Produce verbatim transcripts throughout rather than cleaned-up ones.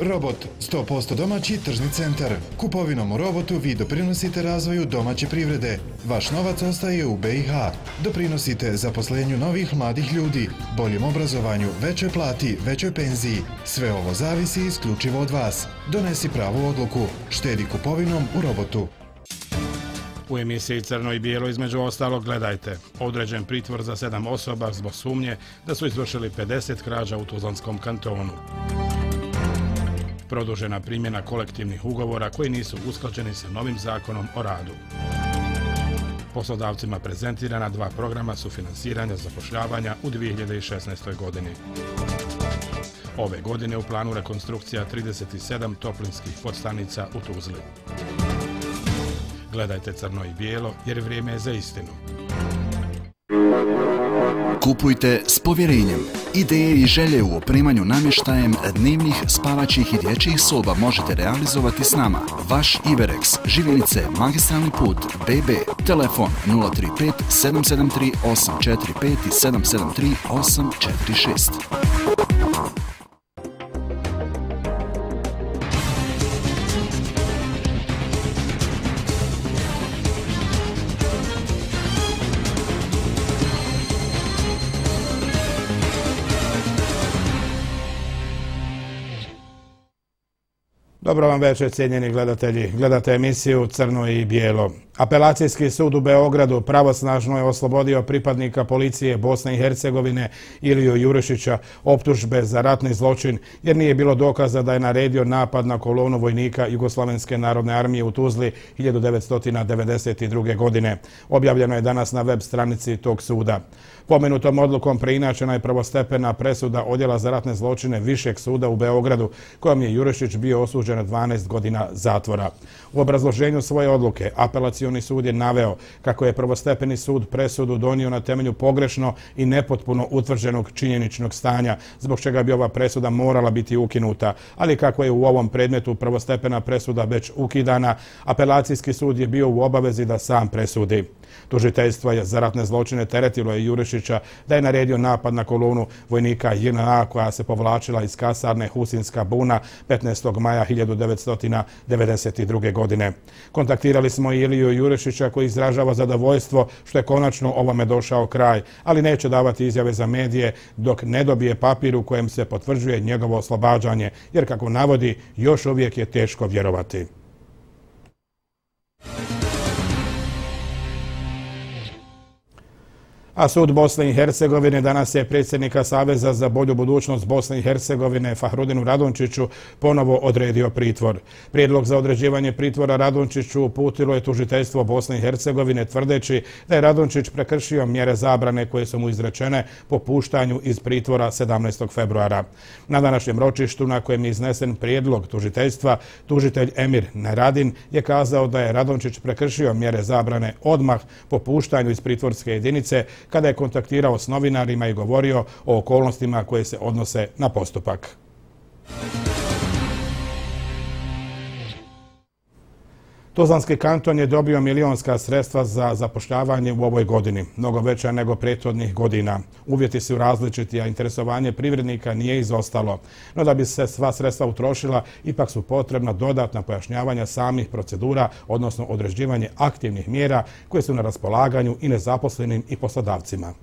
Robot, sto posto domaći tržni centar. Kupovinom u Robotu vi doprinosite razvoju domaće privrede. Vaš novac ostaje u B i H. Doprinosite zaposlenju novih mladih ljudi, boljem obrazovanju, većoj plati, većoj penziji. Sve ovo zavisi isključivo od vas. Donesi pravu odluku. Štedi kupovinom u Robotu. U emisiji Crno i bijelo između ostalog gledajte. Određen pritvor za sedam osoba zbog sumnje da su izvršili pedeset krađa u Tuzlanskom kantonu. Produžena primjena kolektivnih ugovora koji nisu usklađeni sa novim zakonom o radu. Poslodavcima prezentirana dva programa sufinansiranja zapošljavanja u dvije hiljade šesnaestoj. godini. Ove godine u planu rekonstrukcija trideset sedam toplinskih podstanica u Tuzli. Gledajte Crno i bijelo jer vrijeme je za istinu. Kupujte s povjerenjem. Ideje i želje u opremanju namještajem dnevnih, spavaćih i dječjih soba možete realizovati s nama. Vaš Iverex, Živjenice, Magistralni put, B B, telefon nula tri pet sedam sedam tri osam četiri pet i sedam sedam tri osam četiri šest. Dobro vam večer, cijenjeni gledatelji. Gledate emisiju Crno i bijelo. Apelacijski sud u Beogradu pravosnažno je oslobodio pripadnika policije Bosne i Hercegovine Iliju Jurišića optužbe za ratni zločin jer nije bilo dokaza da je naredio napad na kolonu vojnika Jugoslavenske narodne armije u Tuzli hiljadu devetsto devedeset druge. godine. Objavljeno je danas na web stranici tog suda. Pomenutom odlukom preinačena je prvostepena presuda Odjela za ratne zločine Višeg suda u Beogradu, kojom je Jurišić bio osuđen na dvanaest godina zatvora. U obrazloženju svoje odluke Apelacioni sud je naveo kako je prvostepeni sud presudu donio na temelju pogrešno i nepotpuno utvrđenog činjeničnog stanja, zbog čega bi ova presuda morala biti ukinuta, ali kako je u ovom predmetu prvostepena presuda već ukidana, Apelacijski sud je bio u obavezi da sam presudi. Tužiteljstvo je za ratne zločine teretilo je Jurišića da je naredio napad na kolonu vojnika J N A koja se povlačila iz kasarne Husinska buna petnaestog maja hiljadu devetsto devedeset druge. godine. Kontaktirali smo Iliju Jurišića koji izražava zadovoljstvo što je konačno ovome došao kraj, ali neće davati izjave za medije dok ne dobije papir u kojem se potvrđuje njegovo oslobađanje, jer kako navodi, još uvijek je teško vjerovati. A sud Bosne i Hercegovine danas je predsjednika Saveza za bolju budućnost Bosne i Hercegovine Fahrudinu Radončiću ponovo odredio pritvor. Prijedlog za određivanje pritvora Radončiću uputilo je tužiteljstvo Bosne i Hercegovine tvrdeći da je Radončić prekršio mjere zabrane koje su mu izrečene po puštanju iz pritvora sedamnaestog februara. Na današnjem ročištu na kojem je iznesen prijedlog tužiteljstva, tužitelj Emir Neradin je kazao da je Radončić prekršio mjere zabrane odmah po puštanju iz pritvorske jedinice kada je kontaktirao s novinarima i govorio o okolnostima koje se odnose na postupak. Tuzlanski kanton je dobio milionska sredstva za zapošljavanje u ovoj godini, mnogo veća nego prethodnih godina. Uvjeti su različiti, a interesovanje privrednika nije izostalo. No da bi se sva sredstva utrošila, ipak su potrebna dodatna pojašnjavanja samih procedura, odnosno određivanje aktivnih mjera koje su na raspolaganju i nezaposlenim i poslodavcima.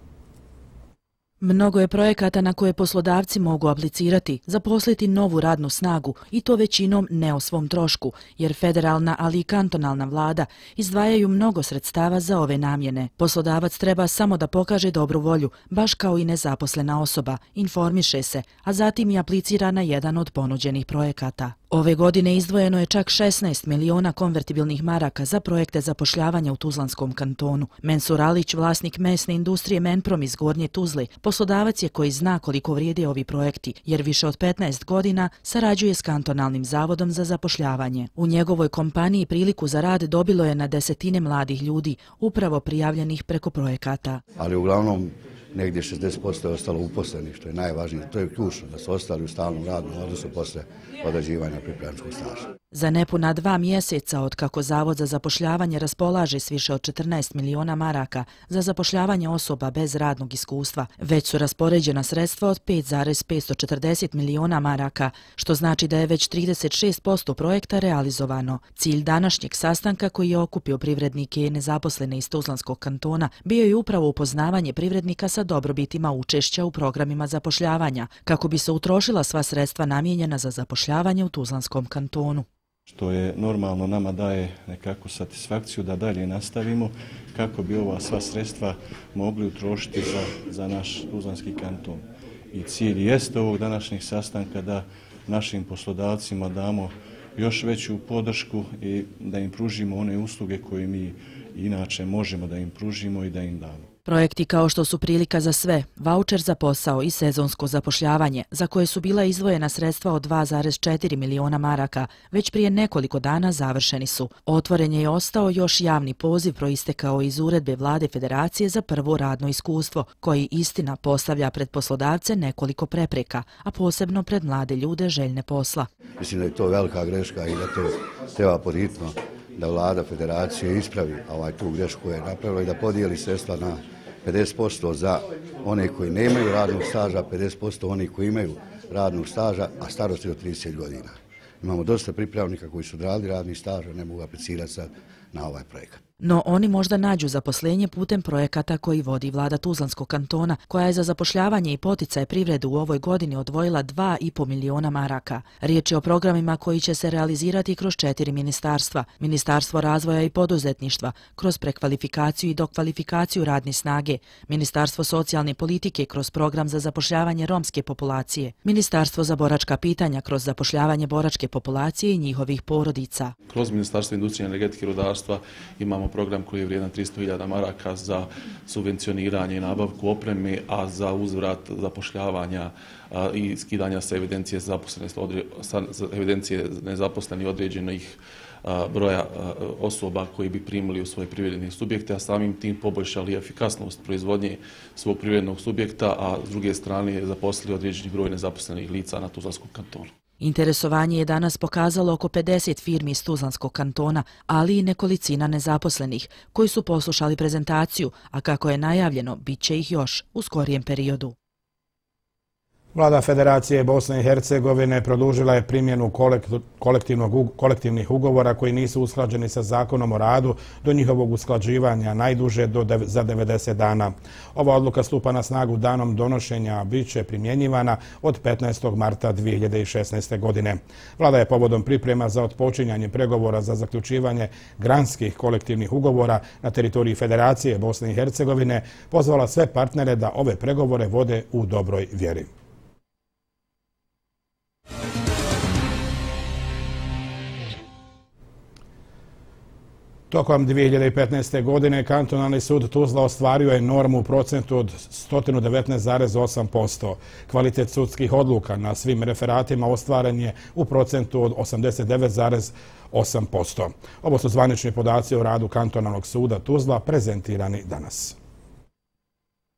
Mnogo je projekata na koje poslodavci mogu aplicirati, zaposliti novu radnu snagu i to većinom ne o svom trošku, jer federalna, ali i kantonalna vlada izdvajaju mnogo sredstava za ove namjene. Poslodavac treba samo da pokaže dobru volju, baš kao i nezaposlena osoba, informiše se, a zatim i aplicira na jedan od ponuđenih projekata. Ove godine izdvojeno je čak šesnaest miliona konvertibilnih maraka za projekte zapošljavanja u Tuzlanskom kantonu. Mensur Alić, vlasnik mesne industrije Menprom iz Gornje Tuzle, poslodavac je koji zna koliko vrijede ovi projekti, jer više od petnaest godina sarađuje s kantonalnim zavodom za zapošljavanje. U njegovoj kompaniji priliku za rad dobilo je na desetine mladih ljudi, upravo prijavljenih preko projekata. Ali uglavnom negdje šezdeset posto je ostalo uposlenih, što je najvažnije. To je ključno, da su ostali u stalnom radnom odnosu posle odrađivanja pripravničkog staža. Za nepuna dva mjeseca od kako Zavod za zapošljavanje raspolaže s više od četrnaest miliona maraka za zapošljavanje osoba bez radnog iskustva, već su raspoređena sredstva od pet zarez petsto četrdeset miliona maraka, što znači da je već trideset šest posto projekta realizovano. Cilj današnjeg sastanka koji je okupio privrednike i nezaposlene iz Tuzlanskog kantona bio je upravo upoznavanje privrednika sa dobrobitima učešća u programima zapošljavanja, kako bi se utrošila sva sredstva namijenjena za zapošljavanje u Tuzlanskom kantonu. Što je normalno nama daje nekakvu satisfakciju da dalje nastavimo kako bi ova sva sredstva mogli utrošiti za, za naš Tuzlanski kanton. I cilj jeste ovog današnjeg sastanka da našim poslodavcima damo još veću podršku i da im pružimo one usluge koje mi inače možemo da im pružimo i da im damo. Projekti kao što su Prilika za sve, vaučer za posao i sezonsko zapošljavanje, za koje su bila izdvojena sredstva od dva zarez četiri miliona maraka, već prije nekoliko dana završeni su. Otvoren je ostao još javni poziv proistekao iz uredbe Vlade Federacije za prvo radno iskustvo, koji istina postavlja pred poslodavce nekoliko prepreka, a posebno pred mlade ljude željne posla. Mislim da je to velika greška i da to treba podhitno da Vlada Federacije ispravi ovaj tu grešku koju je napravila i da podijeli sredstva na pedeset posto za one koji nemaju radnog staža, pedeset posto oni koji imaju radnog staža, a starosti od trideset godina. Imamo dosta pripravnika koji su odradili radni staž, a ne mogu aplicirati sad na ovaj projekat. No oni možda nađu zaposlenje putem projekata koji vodi vlada Tuzlanskog kantona, koja je za zapošljavanje i poticaj privrede u ovoj godini odvojila dva i po miliona maraka. Riječ je o programima koji će se realizirati kroz četiri ministarstva. Ministarstvo razvoja i poduzetništva, kroz prekvalifikaciju i dokvalifikaciju radne snage, Ministarstvo socijalne politike kroz program za zapošljavanje romske populacije, Ministarstvo za boračka pitanja kroz zapošljavanje boračke populacije i njihovih porodica. Kroz Ministarstvo industrije, energetike i rudarstva imamo program koji je vrijedan tristo hiljada maraka za subvencioniranje i nabavku opreme, a za uzvrat zapošljavanja i skidanja sa evidencije, sa evidencije nezaposlenih određenih broja osoba koji bi primili u svoje privredne subjekte, a samim tim poboljšali efikasnost proizvodnje svog privrednog subjekta, a s druge strane zaposlili određeni broj nezaposlenih lica na Tuzlanskom kantonu. Interesovanje je danas pokazalo oko pedeset firmi iz Tuzlanskog kantona, ali i nekolicina nezaposlenih, koji su poslušali prezentaciju, a kako je najavljeno, bit će ih još u skorijem periodu. Vlada Federacije Bosne i Hercegovine produžila je primjenu kolektivnih ugovora koji nisu usklađeni sa Zakonom o radu do njihovog usklađivanja najduže do za devedeset dana. Ova odluka stupa na snagu danom donošenja, a bit će primjenjivana od petnaestog marta dvije hiljade šesnaeste. godine. Vlada je povodom priprema za otpočinjanje pregovora za zaključivanje granskih kolektivnih ugovora na teritoriji Federacije Bosne i Hercegovine pozvala sve partnere da ove pregovore vode u dobroj vjeri. Tokom dvije hiljade petnaeste. godine Kantonalni sud Tuzla ostvario je normu u procentu od sto devetnaest zarez osam posto. Kvalitet sudskih odluka na svim referatima ostvaren je u procentu od osamdeset devet zarez osam posto. Ovo su zvanični podaci o radu Kantonalnog suda Tuzla prezentirani danas.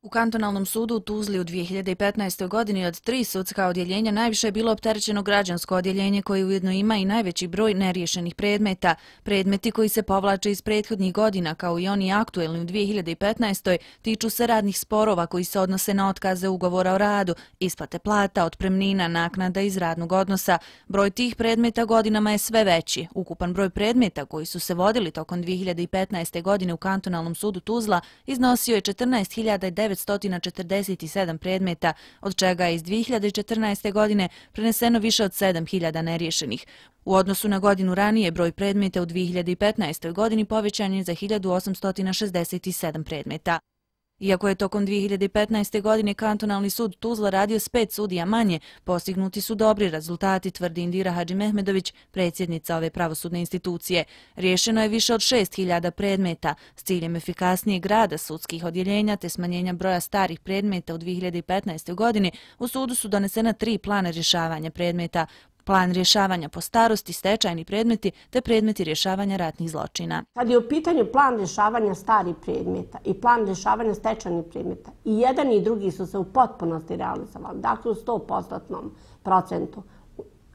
U Kantonalnom sudu u Tuzli u dvije hiljade petnaestoj. godini od tri sudska odjeljenja najviše je bilo opterećeno građansko odjeljenje koje ujedno ima i najveći broj neriješenih predmeta. Predmeti koji se povlače iz prethodnih godina, kao i oni aktuelni u dvije hiljade petnaestoj. tiču se radnih sporova koji se odnose na otkaze ugovora o radu, isplate plata, otpremnina, naknada iz radnog odnosa. Broj tih predmeta godinama je sve veći. Ukupan broj predmeta koji su se vodili tokom dvije hiljade petnaeste. godine u Kantonalnom sudu Tuzla iznosio je četrnaest hiljada devetsto četrdeset sedam predmeta, od čega je iz dvije hiljade četrnaeste. godine preneseno više od sedam hiljada neriješenih. U odnosu na godinu ranije, broj predmeta u dvije hiljade petnaestoj. godini povećan je za hiljadu osamsto šezdeset sedam predmeta. Iako je tokom dvije hiljade petnaeste. godine Kantonalni sud Tuzla radio s pet sudija manje, postignuti su dobri rezultati, tvrdi Indira Hadžimehmedović, predsjednica ove pravosudne institucije. Riješeno je više od šest hiljada predmeta. S ciljem efikasnijeg rada sudskih odjeljenja te smanjenja broja starih predmeta u dvije hiljade petnaestoj. godini u sudu su donesena tri plana rješavanja predmeta. plan rješavanja po starosti, stečajni predmeti te predmeti rješavanja ratnih zločina. Kad je u pitanju plan rješavanja starih predmeta i plan rješavanja stečajnih predmeta, i jedan i drugi su se u potpunosti realizovali, dakle u sto posto procentu.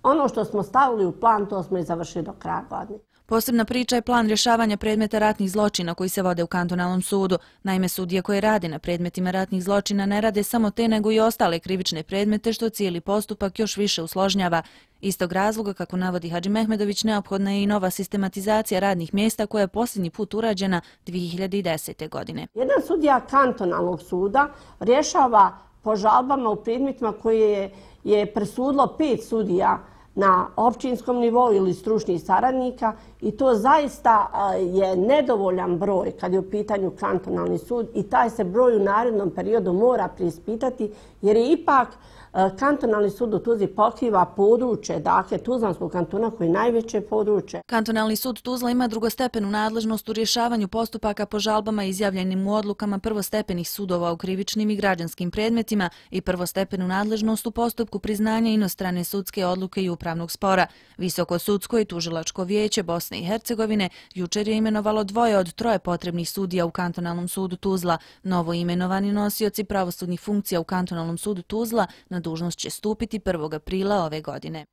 Ono što smo stavili u plan, to smo i završili do kraja godine. Posebna priča je plan rješavanja predmeta ratnih zločina koji se vode u kantonalnom sudu. Naime, sudije koje rade na predmetima ratnih zločina ne rade samo te nego i ostale krivične predmete što cijeli postupak još više usložnjava. Istog razloga, kako navodi Hadži Mehmedović, neophodna je i nova sistematizacija radnih mjesta koja je posljednji put urađena dvije hiljade desete. godine. Jedan sudija kantonalnog suda rješava po žalbama u predmetima koje je presudilo pet sudija na općinskom nivou ili stručnih saradnika i to zaista je nedovoljan broj kad je u pitanju kantonalni sud i taj se broj u narednom periodu mora preispitati jer je ipak kantonalni sud u Tuzli pokriva područje, dakle Tuzlanskog kantona koji je najveće područje. Kantonalni sud Tuzla ima drugostepenu nadležnost u rješavanju postupaka po žalbama izjavljenim u odlukama prvostepenih sudova u krivičnim i građanskim predmetima i prvostepenu nadležnost u postupku priznanja inostrane sudske odluke i upravnog spora. Visoko sudsko i tužilačko vijeće Bosne i Hercegovine jučer je imenovalo dvoje od troje potrebnih sudija u kantonalnom sudu Tuzla. Novo imenovani nosioci pravosudnih funkcija u kantonalnom sudu Tuzla na dužnost će stupiti prvog aprila ove godine.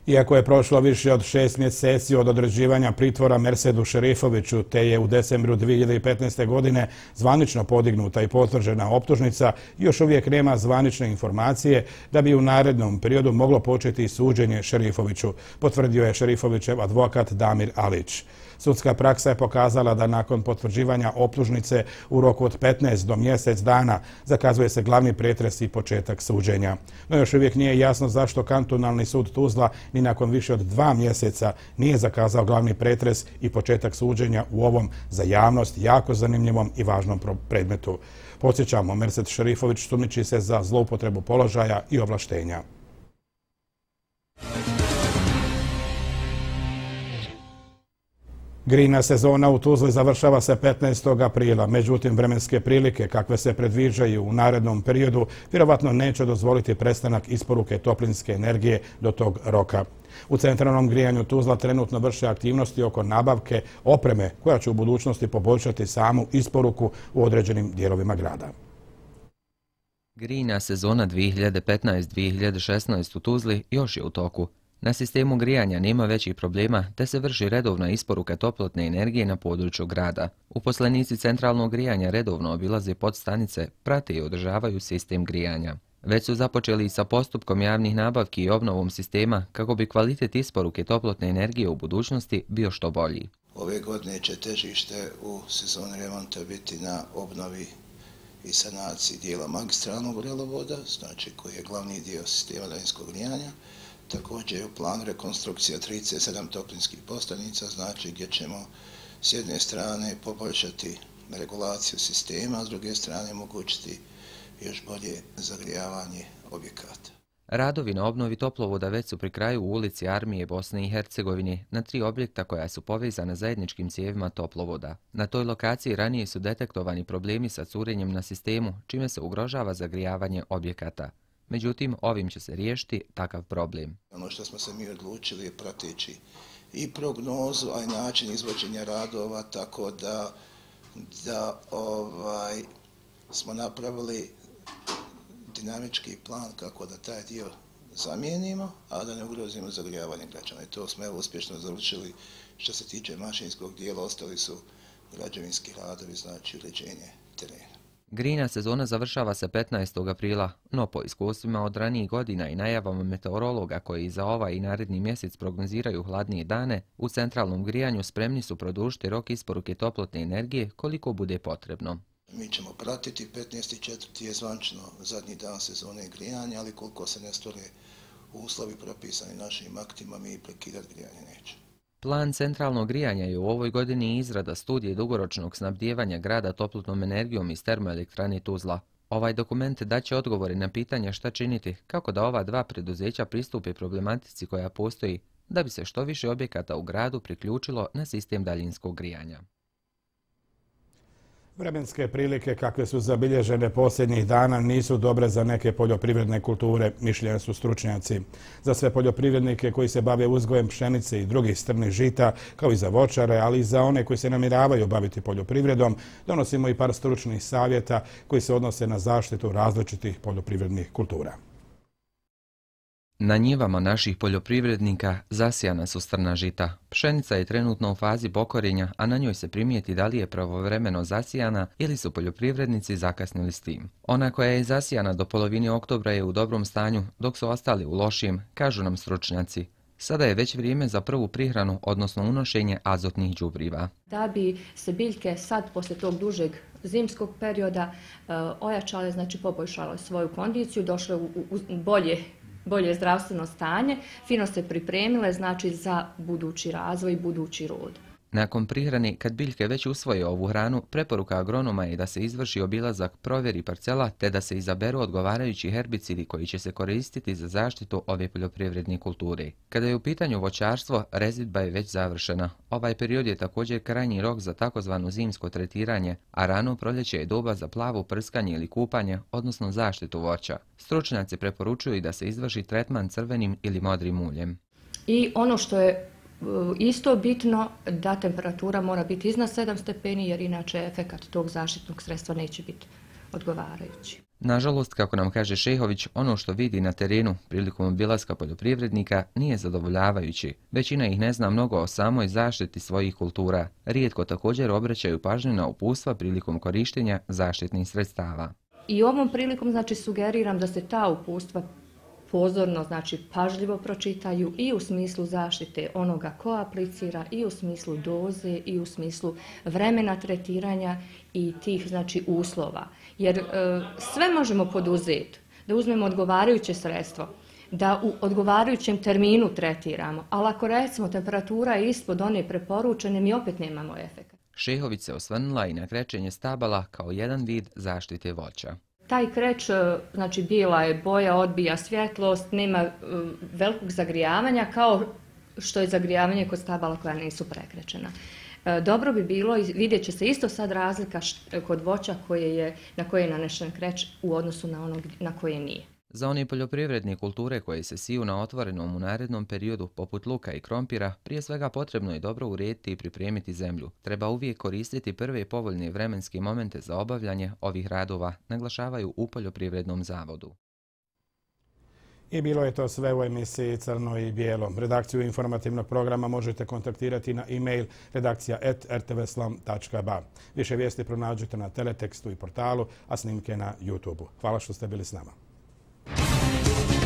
Iako je prošlo više od šest mjeseci od određivanja pritvora Mersedu Šerifoviću, te je u decembru dvije hiljade petnaeste. godine zvanično podignuta i potvrđena optužnica, još uvijek nema zvanične informacije da bi u narednom periodu moglo početi suđenje Šerifoviću, potvrdio je Šerifovićev advokat Damir Alić. Sudska praksa je pokazala da nakon potvrđivanja optužnice u roku od petnaest do mjesec dana zakazuje se glavni pretres i početak suđenja. No još uvijek nije jasno zašto kantonalni sud Tuzla ni nakon više od dva mjeseca nije zakazao glavni pretres i početak suđenja u ovom za javnost jako zanimljivom i važnom predmetu. Podsjećamo, Mersed Šerifović sumnjiči se za zloupotrebu položaja i ovlaštenja. Grejna sezona u Tuzli završava se petnaestog aprila, međutim vremenske prilike kakve se predviđaju u narednom periodu vjerovatno neće dozvoliti prestanak isporuke toplinske energije do tog roka. U centralnom grijanju Tuzla trenutno vrše aktivnosti oko nabavke opreme koja će u budućnosti poboljšati samu isporuku u određenim dijelovima grada. Grejna sezona dvije hiljade petnaeste dvije hiljade šesnaeste u Tuzli još je u toku. Na sistemu grijanja nema većih problema te se vrši redovna isporuka toplotne energije na području grada. Uposlenici centralnog grijanja redovno obilaze podstanice, prate i održavaju sistem grijanja. Već su započeli i sa postupkom javnih nabavki i obnovom sistema kako bi kvalitet isporuke toplotne energije u budućnosti bio što bolji. Ove godine će težište u sezoni remonta biti na obnovi i sanaciji dijela magistralnog vrelovoda, znači koji je glavni dio sistema daljinskog grijanja. Također je u planu rekonstrukcija trideset sedam toplinskih postanica, znači gdje ćemo s jedne strane poboljšati regulaciju sistema, a s druge strane omogućiti još bolje zagrijavanje objekata. Radovi na obnovi toplovoda već su pri kraju u ulici Armije Bosne i Hercegovine na tri objekta koja su povezana zajedničkim cijevima toplovoda. Na toj lokaciji ranije su detektovani problemi sa curenjem na sistemu, čime se ugrožava zagrijavanje objekata. Međutim, ovim će se riješiti takav problem. Ono što smo se mi odlučili je prateći i prognozu, a i način izvođenja radova, tako da, da ovaj, smo napravili dinamički plan kako da taj dio zamijenimo, a da ne ugrozimo zagrijavanje građana. I to smo evo uspješno završili. Što se tiče mašinskog dijela, ostali su građevinski radovi, znači uređenje terena. Grejna sezona završava se petnaestog aprila, no po iskustvima od ranijih godina i najavama meteorologa koji za ovaj i naredni mjesec prognoziraju hladnije dane, u centralnom grijanju spremni su produžiti rok isporuke toplotne energije koliko bude potrebno. Mi ćemo pratiti, petnaesti četvrti je zvančno zadnji dan sezone grijanja, ali koliko se ne stvore uslovi propisani našim aktima, mi prekidati grijanje nećemo. Plan centralnog grijanja je u ovoj godini izrada studije dugoročnog snabdijevanja grada toplotnom energijom iz termoelektrane Tuzla. Ovaj dokument daće odgovore na pitanja šta činiti, kako da ova dva preduzeća pristupe problematici koja postoji, da bi se što više objekata u gradu priključilo na sistem daljinskog grijanja. Vremenske prilike kakve su zabilježene posljednjih dana nisu dobre za neke poljoprivredne kulture, mišljenja su stručnjaci. Za sve poljoprivrednike koji se bave uzgojem pšenice i drugih strnih žita, kao i za voćare, ali i za one koji se namiravaju baviti poljoprivredom, donosimo i par stručnih savjeta koji se odnose na zaštitu različitih poljoprivrednih kultura. Na njivama naših poljoprivrednika zasijana su strna žita. Pšenica je trenutno u fazi pokorenja, a na njoj se primijeti da li je pravovremeno zasijana ili su poljoprivrednici zakasnili s tim. Ona koja je zasijana do polovine oktobra je u dobrom stanju, dok su ostali u lošijem, kažu nam stručnjaci. Sada je već vrijeme za prvu prihranu, odnosno unošenje azotnih đubriva. Da bi se biljke sad, posle tog dužeg zimskog perioda, ojačale, znači poboljšale svoju kondiciju, došle u bolje bolje zdravstveno stanje, fino se pripremile, znači za budući razvoj i budući rod. Nakon prihrane, kad biljke već usvoje ovu hranu, preporuka agronoma je da se izvrši obilazak provjeri parcela te da se izaberu odgovarajući herbicidi koji će se koristiti za zaštitu ove poljoprivredne kulture. Kada je u pitanju voćarstvo, rezidba je već završena. Ovaj period je također krajnji rok za takozvano zimsko tretiranje, a rano proljeće je doba za plavo prskanje ili kupanje, odnosno zaštitu voća. Stručnjaci preporučuju da se izvrši tretman crvenim ili modrim uljem. I ono što je isto bitno, da temperatura mora biti iznad sedam stepeni, jer inače efekat tog zaštitnog sredstva neće biti odgovarajući. Nažalost, kako nam kaže Šehović, ono što vidi na terenu prilikom obilaska poljoprivrednika nije zadovoljavajući. Većina ih ne zna mnogo o samoj zaštiti svojih kultura. Rijetko također obraćaju pažnju na upustva prilikom korištenja zaštitnih sredstava. I ovom prilikom, znači, sugeriram da se ta upustva pozorno, znači pažljivo pročitaju i u smislu zaštite onoga ko aplicira, i u smislu doze, i u smislu vremena tretiranja i tih, znači, uslova. Jer e, sve možemo poduzeti, da uzmemo odgovarajuće sredstvo, da u odgovarajućem terminu tretiramo, ali ako recimo temperatura je ispod one preporučene, mi opet nemamo efekt. Šehović se osvrnula i na krečenje stabala kao jedan vid zaštite voća. Taj kreć, znači bijela je boja, odbija svjetlost, nema uh, velikog zagrijavanja kao što je zagrijavanje kod stabala koja nisu prekrećena. Uh, dobro bi bilo, vidjet će se isto sad razlika št, kod voća koje je, na koje je nanešen kreć u odnosu na onog na koje nije. Za one poljoprivredne kulture koje se siju na otvorenom u narednom periodu, poput luka i krompira, prije svega potrebno je dobro urediti i pripremiti zemlju. Treba uvijek koristiti prve povoljne vremenske momente za obavljanje ovih radova, naglašavaju u Poljoprivrednom zavodu. I bilo je to sve u emisiji Crno i bijelo. Redakciju informativnog programa možete kontaktirati na e-mail redakcija at r t v slam tačka b a. Više vijesti pronađete na teletekstu i portalu, a snimke na YouTubeu. Hvala što ste bili s nama. Thank you.